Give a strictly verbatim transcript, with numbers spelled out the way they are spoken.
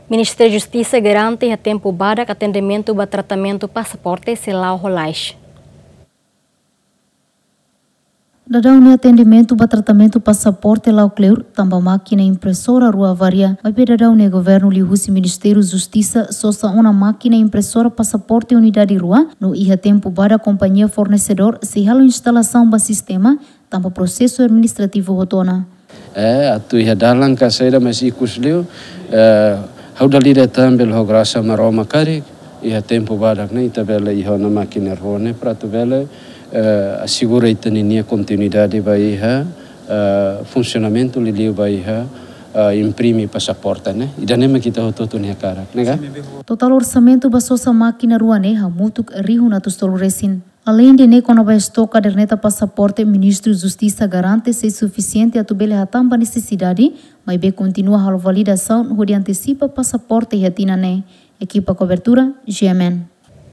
Ministériu Justisa garante iha tempu badak atendimentu ba tratamentu pasaporte sei la'o ho lalais. Daudaun ne'e atendimentu ba tratamentu pasaporte la'o kleur, tanba mákina impresora rua avaria. Maibé daudaun ne'e governu liuhusi Ministériu Justisa sosa ona mákina impresora pasaporte unidade rua, no iha tempu badak kompañia fornesedór sei halo instalasaun ba sistema, tanba prosesu administrativu hotu ona. Eh, atu iha dalan ka saida, mas ikus liu, eh, ha'u dala ida tan bele ho grasa Maromak karik, iha tempu badak ne'e ita bele iha ona mákina rua ne'e para atu bele, eh, asegura ita-ninia kontinuidade ba iha, eh, funsionamentu, liuliu ba iha, eh, imprime pasaporte ne'e. Ida-ne'e mak ita hotu-hotu nia hakarak, ne'e ka? Totál orsamentu ba sosa mákina rua ne'e hamutuk rihun atus tolu resin. Aleinde ne'e, kona-ba estok kaderneta pasaporte, Ministériu Justisa garante sei sufisiente atu bele hatán ba nesesidade, maibé kontinua halo validasaun hodi antesipa pasaporte iha tinan ne'e. Ekipa kobertura, G M N.